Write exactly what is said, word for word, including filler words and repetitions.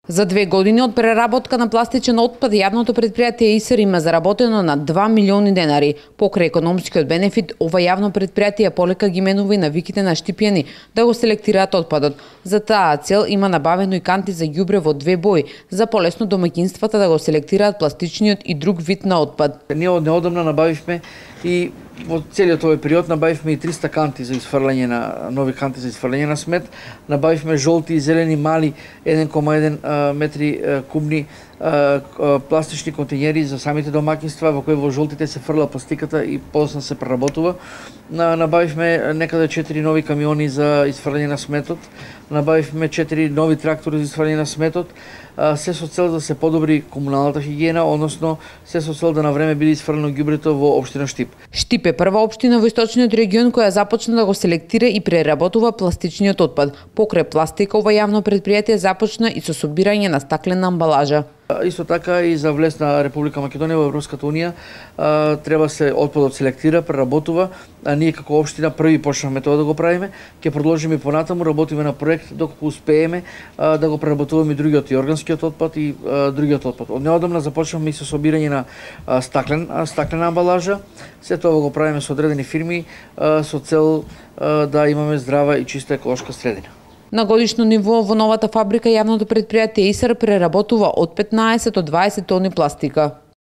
За две години од преработка на пластичен отпад, јавното предпријатие ИСР има заработено на два милиони денари. Покрај економскиот бенефит, ова јавно предпријатие полека ги менува и навиките на Штипјани да го селектираат отпадот. За таа цел има набавено и канти за ѓубре во две бои, за полесно домаќинствата да го селектираат пластичниот и друг вид на отпад. Ние од неодамна набавивме и во целиот овој период набавивме и триста канти за изфрлање на нови канти за изфрлање на смет, набавивме жолти и зелени мали еден кoma еден метри кубни пластични контејнери за самите домаќинства, во кои во жолтите се фрла пластиката и после се преработува. Набавивме некаде четири нови камиони за изфрлање на сметот, набавивме четири нови трактори за изфрлање на сметот, се со цел да се подобри комуналната хигиена, односно се со цел да на време биде изфрлено ѓубрето во општина Штип. Штип е прва општина во источниот регион која започна да го селектира и преработува пластичниот отпад. Покрај пластика, ова јавно предпријатие започна и со собирање на стаклена амбалажа. Исто така и за влез на Република Македонија во Европската унија треба се отпадот селектира, преработува, а ние како општина први почнавме тоа да го правиме, ќе продолжиме понатаму, работиме на проект доколку успееме да го преработуваме и другиот и органскиот отпад и другиот отпад. Од неодамна започнавме и со собирање на стаклен стаклена амбалажа, се тоа го правиме со одредени фирми со цел да имаме здрава и чиста еколошка средина. На годишно ниво во новата фабрика јавното предпријатие ИСР преработува од петнаесет до дваесет тони пластика.